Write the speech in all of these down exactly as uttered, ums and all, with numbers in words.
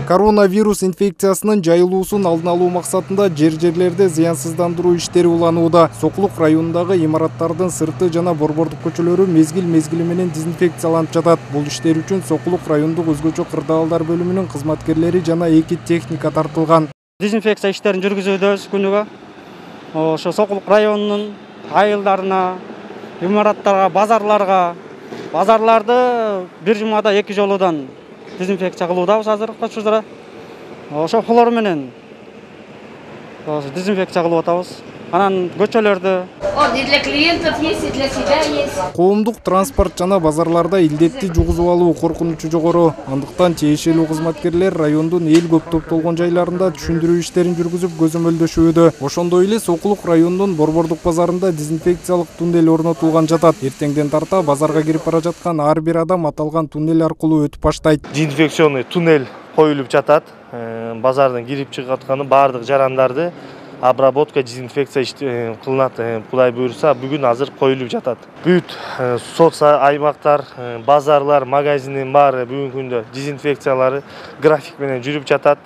Коронавирус инфекциясынын жайылуусун алдын алуу максатында жер-жерлерде зыянсыздандыруу иштери уланууда. Сокулук районундагы имараттардын сырты жана борбордук көчөлөрү мезгил-мезгили менен дезинфекцияланып жатат. Бул иштер үчүн Сокулук райондук өзгөчө кырдаалдар бөлүмүнүн кызматкерлери жана эки техника тартылган. Дезинфекция иштерин жүргүзүүдөбүз күнүгө. Ошо Сокулук районунун айылдарына, имараттарга, базарларга, базарларды бир жумада эки жолудан дезинфекция кылуудабыз азыркы учурда. Ошо хлор менен дезинфекция кылып атабыз. Анан көчөлөрдү. Он и для клиентов есть, и для себя есть. Коомдук транспорт жана базарларда илдетти жугузуп алуу коркунучу жогору. Андыктан тиешелүү кызматкерлер райондун эл көп топтолгон жайларында түшүндүрүү иштерин жүргүзүп көзөмөлдөшүүдө. Ошондой эле Сокулук районунун Борбордук базарында дезинфекциялык туннель орнотулган жатат. Эртеңден тарта базарга кирип бара жаткан ар бир адам аталган туннель аркылуу өтүп баштайт. Дезинфекционный туннель коюлуп жатат. Базардын кирип чыгып атканы баардык жарандарды обработка, дезинфекция кылынат. Кудай буйрса, бүгүн азыр коюлуп жатат. Бүт соц аймактар, базарлар, магазиндин баары бүгүнкү күндө дезинфекциялары график менен жүрүп жатат.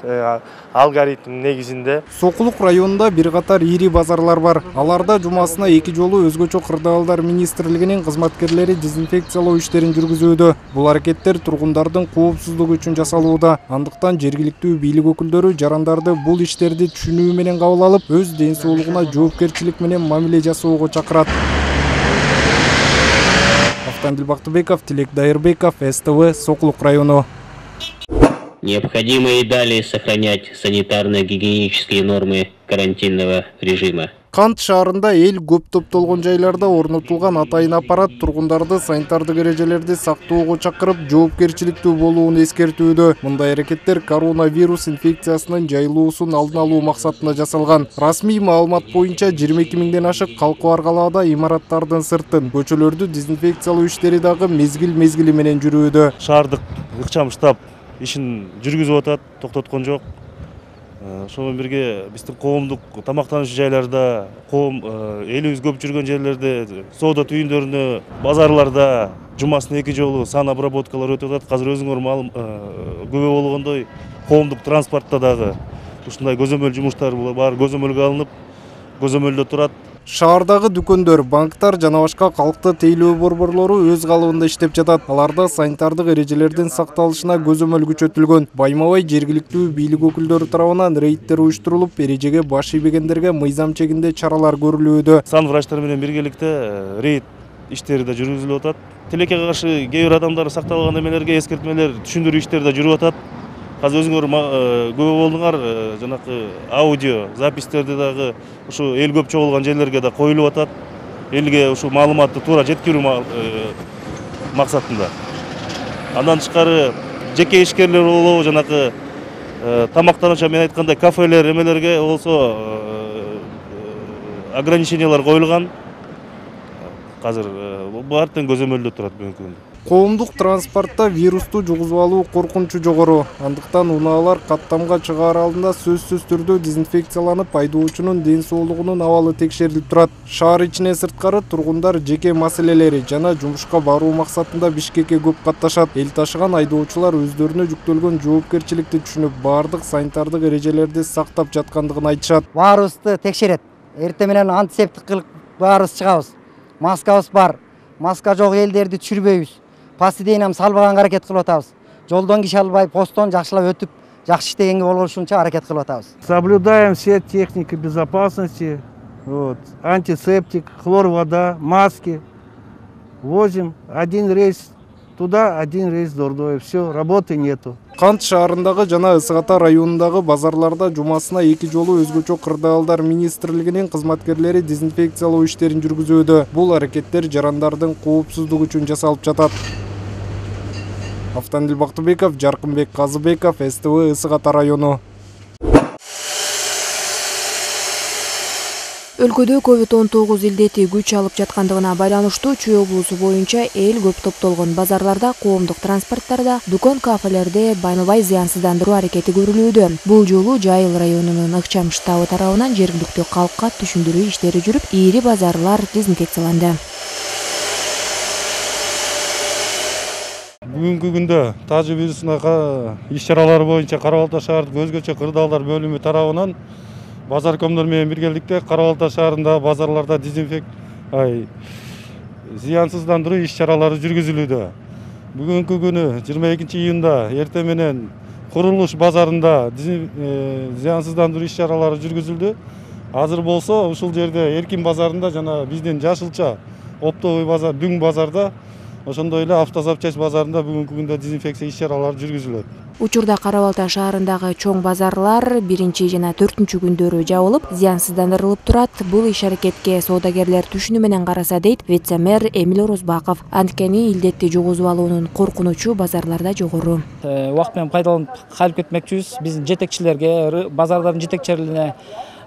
Алгоритм негизинде. Сокулук районунда бир катар ири базарлар бар. Аларда жумасына эки жолу өзгөчө кырдаалдар министрлигинин кызматкерлери дезинфекциялоо иштерин жүргүзүүдө. Бул аракеттер тургундардын коопсуздугу үчүн жасалууда. Андыктан жергиликтүү бийлик өкүлдөрү жарандарды бул иштерди түшүнүү менен кабыл алып, өз ден соолугуна жоопкерчилик менен мамиле жасоого чакырат. Автандил Бактыбеков, Тилек Дайырбеков, эс тэ вэ, Сокулук району. Необходимо и далее сохранять санитарно-гигиенические нормы карантинного режима. Кант шаарында эл көп топтолгон жайларда орнотулган атайын аппарат тургундарды санитардык эрежелерди сактоого чакырып, жоопкерчиликтүү болууну эскертүүдө. Мындай аракеттер коронавирус инфекциясынын жайылуусун алдын алуу максатында жасалган. Расмий маалымат боюнча жыйырма эки миңден ашык калкы бар калаада имараттардын сыртын, көчөлөрдү дезинфекциялоо иштери дагы мезгил-мезгили менен жүрүүдө. Шаардык ыкчам штаб ишин жүргүзүп атат, токтоткон жок. Ошону бирге биздин коомдук тамактануучу жайларда, коом элибиз көп жүргөн жерлерде, соода түйүндөрүндө, базарларда жумасына эки жолу сан обработкалар өтүп атат. Азыр өзүңөр күбө болгондой коомдук транспортто дагы ушундай көзөмөл жумуштар бар, көзөмөлгө алынып, көзөмөлдө турат. Шаардагы дүкөндөр, банктар жана башка калкты тейлөө борборлору өз калыбында иштеп жатат. Аларда санитардык эрежелердин сакталышына көзөмөл күчөтүлгөн. Байма-бай жергиликтүү бийлик өкүлдөрү тарабынан рейдтер уюштурулуп, эрежеге баш ийбегендерге мыйзам чегинде чаралар көрүлүүдө. Сан врачтар менен биргеликте рейд иштери да жүргүзүлүп атат. Тилекке каршы кээ бир адамдар сакталган эмелерге эскертмелер, түшүндүрүү иштери да жүрүп атат. Азыр өзүңөр күбө болдуңар, жанакы аудио запистерди дагы ушу эл көп чогулган жерлерге да коюлуп атат. Элге ушу маалыматты туура жеткирүү максатында. Андан тышкары жеке ишкерлер болобу, жанакы тамактануучу, мен айткандай кафелер, эмелерге болсо ограничениялар коюлган. Азыр баардыгын көзөмөлдө турат бүгүнкү күндө. Коомдук транспортто вирусту жугузуп алуу коркунучу жогору. Андыктан унаалар каттамга чыгаар алдында сөзсүз түрдө дезинфекцияланып, айдоочунун ден соолугунун абалы текшерилип турат. Шаар ичине сырткары тургундар жеке маселелери жана жумушка баруу максатында Бишкекке көп катташат. Эл ташыган айдоочулар өздөрүнө жүктөлгөн жоопкерчиликти түшүнүп, баардык санитардык эрежелерди сактап жаткандыгын айтышат. Баарыбызды текшерет. Эртең менен антисептик кылып баарыбыз чыгабыз. Маскабыз бар. Маска жок элдерди түшүрбөйбүз. Пастидейнам салбаганга аракет кылып атабыз. Жолдон киши албай, посттон жакшылап өтүп, жакшы иштегенге болгончунча аракет кылып атабыз. Соблюдаем все техники безопасности, вот, антисептик, хлор вода, маски. Возим один рейс туда, один рейс Дордой. Все, работы нету. Кант шаарындагы жана Ысык Ата районундагы базарларда жумасына эки жолу өзгөчө кырдаалдар министрлигинин кызматкерлери дезинфекциялоо иштерин жүргүзүүдө. Бул аракеттер жарандардын коопсуздугу үчүн жасалып жатат. Автандил Бактыбеков, Жаркынбек Казыбеков, эс тэ вэ, Ысык Ата району. Өлкөдө ковид он тогуз илдети күч алып жаткандыгына байланыштуу Чүй облусу боюнча эл көп топтолгон базарларда, коомдук транспорттарда, дүкөн, кафелерде байма-бай зыянсыздандыруу аракети көрүлүүдө. Бул жолу Жайыл районунун ыкчам штабы тарабынан жергиликтүү калкка түшүндүрүү иштери жүрүп, ири базарлар дезинфекцияланды. Бүгүнкү күндө тажы вирусуна иш чаралары боюнча Кара Балта шаардык өзгөчө кырдаалдар бөлүмү тарабынан базаркомдор менен биргеликте Кара Балта шаарындагы базарларда дезинфек ай зыянсыздандыруу иш чаралары жүргүзүлүүдө. Бүгүнкү күнү жыйырма экинчи июнда эртең менен Курулуш базарында зыянсыздандыруу иш чаралары жүргүзүлдү. Азыр болсо ушул жерде Эркин базарында жана биздин Жашылча оптовый базар, Дүң базарда, ошондой эле Автозапчасть базарында бүгүнкү күндө дезинфекция иш чаралары жүргүзүлөт. Учурда Кара Балта шаарындагы чоң базарлар биринчи жана төртүнчү күндөрү жабылып, зыянсыздандырылып турат. Бул иш аракетке соодагерлер түшүнүү менен караса дейт вице-мэр Эмил Орозбаков. Анткени илдетти жугузуп алуунун коркунучу базарларда жогору. Убакыт менен пайдаланып кайрып кетмекчибиз. Биздин жетекчилерге, базардардын жетекчилерине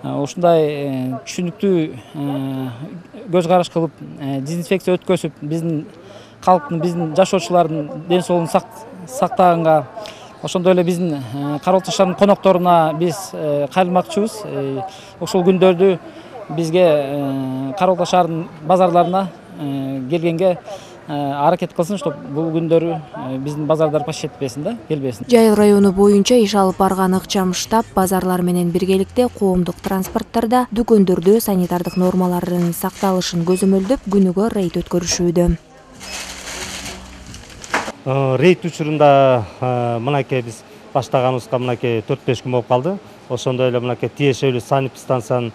ушундай түшүнүктүү көз караш кылып, дезинфекция өткөзүп, биздин калктын, биздин жашоочулардын ден соолугун сактаганга, ошондой эле биздин Кара Балта шаарынын конокторуна биз кайрылмакчыбыз. Ошол күндөрдү бизге Кара Балта шаарынын базарларына келгенге аракет кылсын, чтобы бул күндөрү биздин базардар паш этпесин да, келбесин. Жайыл району боюнча иш алып барган ыкчам штаб базарлар менен биргеликте коомдук транспорттарда, дүкөндөрдө санитардык нормалардын сакталышын көзөмөлдөп, күнүгө рейд өткөрүшүүдө. Рейд учурунда мынакей биз баштаганыбызга мынакей төрт беш күн болуп калды. Ошондой эле мынакей тиешелүү санэпидстанциянын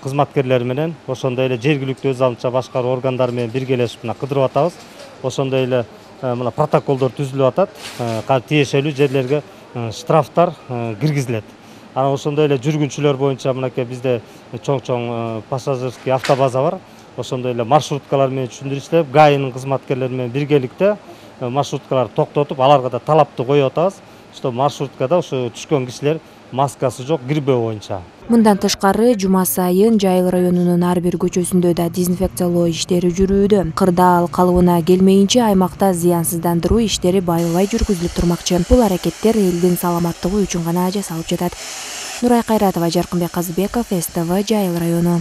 кызматкерлери менен, ошондой эле жергиликтүү өз алдынча башкаруу органдары менен биргелешип мына кыдырып атабыз. Ошондой эле мына протоколдор түзүлүп атат. Тиешелүү жерлерге штрафтар киргизилет. Анан ошондой эле жүргүнчүлөр боюнча мынакей бизде чоң-чоң пассажирский автобаза бар. Ошондой эле маршруткалар менен түшүндүрүп иштеп, ГАИнин кызматкерлери менен биргеликте маршруткалар токтотуп, аларга да талапты коюп атабыз. Что маршруткада ошо түшкөн кишилер маскасы жок кирбөө боюнча. Мындан тышкары жума сайын Жайыл районунун ар бир көчөсүндө да дезинфекциялоо иштери жүрүүдө. Кырдаал калыбына келмейинче аймакта зыянсыздандыруу иштери байыбай жүргүзүлүп турмакчы. Бул аракеттер элдин саламаттыгы үчүн гана жасалып жатат. Нурай Кайратова, Жаркынбек Казыбеков, СТВ, Жайыл району.